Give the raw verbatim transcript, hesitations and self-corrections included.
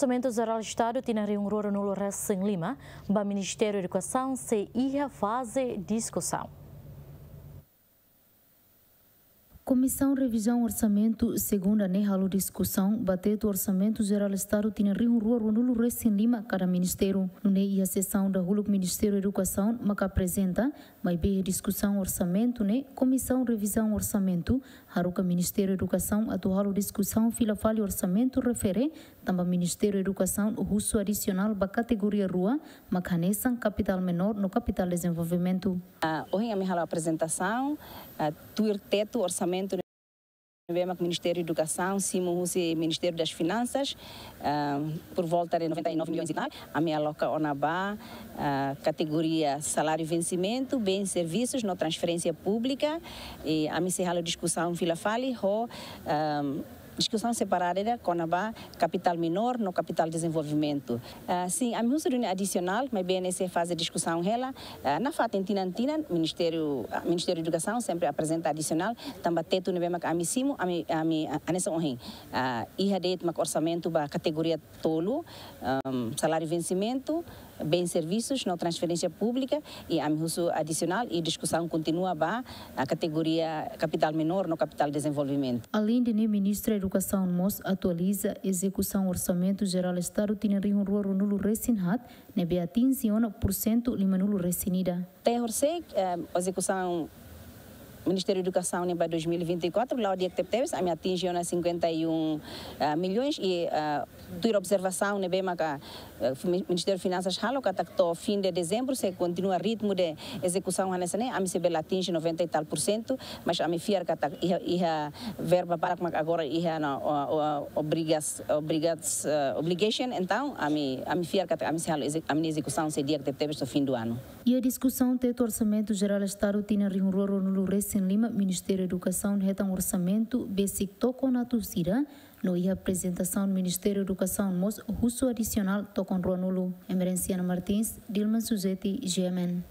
Orsamentu Jerál Estadu tinan rihun rua ruanulu resin lima ba Ministériu Edukasaun sei iha faze diskusaun. Komisaun Revizaun Orsamentu segunda ne'e halo diskusaun ba tetu Orsamentu Jerál Estadu tinan rihun rua ruanulu resin lima kada ministériu. Nune'e iha sesaun dahuluk Ministériu Edukasaun maka aprezenta, maibé iha diskusaun orsamentu ne'e Komisaun Revizaun Orsamentu haruka Ministériu Edukasaun atu halo diskusaun fila fali orsamentu refere tanba Ministériu Edukasaun husu adisionál ba kategoria rua, mak hanesan kapitál menór no kapitál dezenvolvimentu. Ah, ohin ami halo aprezentasaun, ah, tuir tetu orsamentu ne'ebé mak Ministériu Edukasaun simu husi Ministériu das Finansas, ah, por volta de noventa e nove milhões e tal. Ami aloka ona ba, ah, kategoria saláriu vensimentu, bens servisus no transferénsia públika. I ami sei halo diskusaun fila fali ho, ah, diskusaun separada ida kona-ba kapitál menór no kapitál dezenvolvimentu. Ah, sin, ami husu duni adisionál, maibé ne'e sei faze diskusaun hela. Ah, nafatin tinan-tinan, Ministériu, ah, Ministériu Edukasaun sempre aprezenta adisionál, tanba tetu ne'ebé mak ami simu, ami, ami, ah, hanesan ohin. Ah, iha de'it mak orsamentu ba kategoria tolu, ahm, saláriu vensimentu, bens servisus no transferénsia públika, i ami husu adisionál i diskusaun kontinua ba, ah, kategoria kapitál menór no kapitál dezenvolvimentu. Aleinde ne'e, Ministra Edukasaun mós atualiza ezekusaun Orsamentu Jerál Estadu tinan rihun rua ruanulu resin haat, ne'ebé atinje ona pursentu limanulu resin ida. To'o horisehik, eh, ezekusaun Ministériu Edukasaun ne'e ba dois mil e vinte e quatro, la'o di'ak tebetebes, ami atinje ona cinquenta e um, ah, milhões i, ah, tuir observasaun ne'ebé maka, eh, mi-, Ministériu Finansas halo katak to'o fim de dezembro, se kontinua ritmu de ezekusaun hanesan ne'e, ami sei bele atinje noventa e tal por cento, mas ami fiar katak iha, iha verba barak mak agora iha ona, o, o, obrigas-, obrigas-, eh, obligation, entaun ami, ami fiar katak ami sei halo eze-, ami-nia ezekusaun sei di'ak tebetebes to'o fim do ano. Iha diskusaun tetu Orsamentu Jerál Estadu tinan rihun rua ruanulu resin lima, Ministériu Edukasaun hetan orsamentu besik tokon atus ida, no iha aprezentasaun Ministériu Edukasaun mós husu adisionál tokon ruanulu. Emerenciana Martins, Dilma Suzeti, G M N.